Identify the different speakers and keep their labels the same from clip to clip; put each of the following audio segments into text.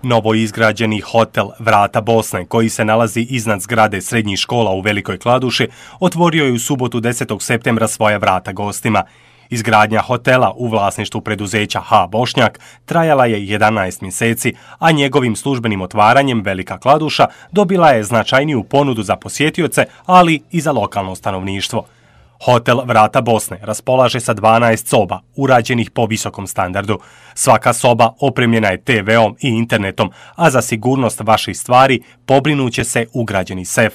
Speaker 1: Novoizgrađeni hotel Vrata Bosne, koji se nalazi iznad zgrade srednjih škola u Velikoj Kladuši, otvorio je u subotu 10. septembra svoja vrata gostima. Izgradnja hotela u vlasništvu preduzeća H. Bošnjak trajala je 11 mjeseci, a njegovim službenim otvaranjem Velika Kladuša dobila je značajniju ponudu za posjetioce, ali i za lokalno stanovništvo. Hotel Vrata Bosne raspolaže sa 12 soba, urađenih po visokom standardu. Svaka soba opremljena je TV-om i internetom, a za sigurnost vaših stvari pobrinuće se ugrađeni sef.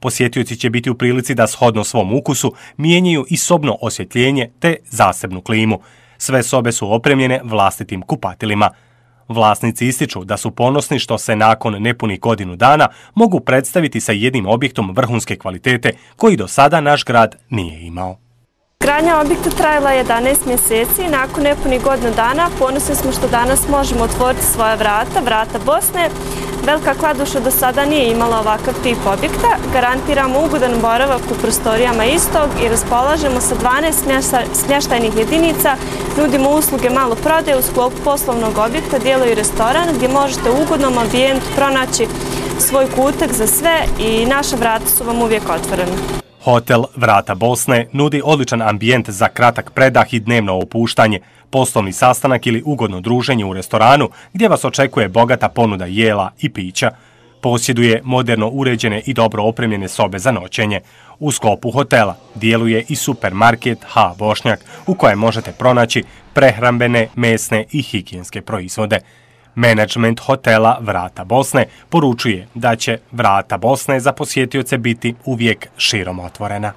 Speaker 1: Posjetioci će biti u prilici da shodno svom ukusu mijenjaju i sobno osvjetljenje te zasebnu klimu. Sve sobe su opremljene vlastitim kupatilima. Vlasnici ističu da su ponosni što se nakon nepunih godinu dana mogu predstaviti sa jednim objektom vrhunske kvalitete koji do sada naš grad nije imao.
Speaker 2: Gradnja objekta trajala je 11 mjeseci i nakon nepunih godinu dana ponosni smo što danas možemo otvoriti svoja Vrata Bosne. Velika Kladuša do sada nije imala ovakav tip objekta. Garantiramo ugodan boravak u prostorijama istog i raspolažemo sa 12 smještajnih jedinica. Nudimo usluge maloprodaje u sklopu poslovnog objekta, djeluje restoran gdje možete u ugodnom ambijentu pronaći svoj kutak za sve i naša vrata su vam uvijek otvorena.
Speaker 1: Hotel Vrata Bosne nudi odličan ambijent za kratak predah i dnevno opuštanje, poslovni sastanak ili ugodno druženje u restoranu gdje vas očekuje bogata ponuda jela i pića. Posjeduje moderno uređene i dobro opremljene sobe za noćenje. U sklopu hotela djeluje i supermarket H. Bošnjak u kojem možete pronaći prehrambene, mesne i higijenske proizvode. Menadžment hotela Vrata Bosne poručuje da će Vrata Bosne za posjetioce biti uvijek širom otvorena.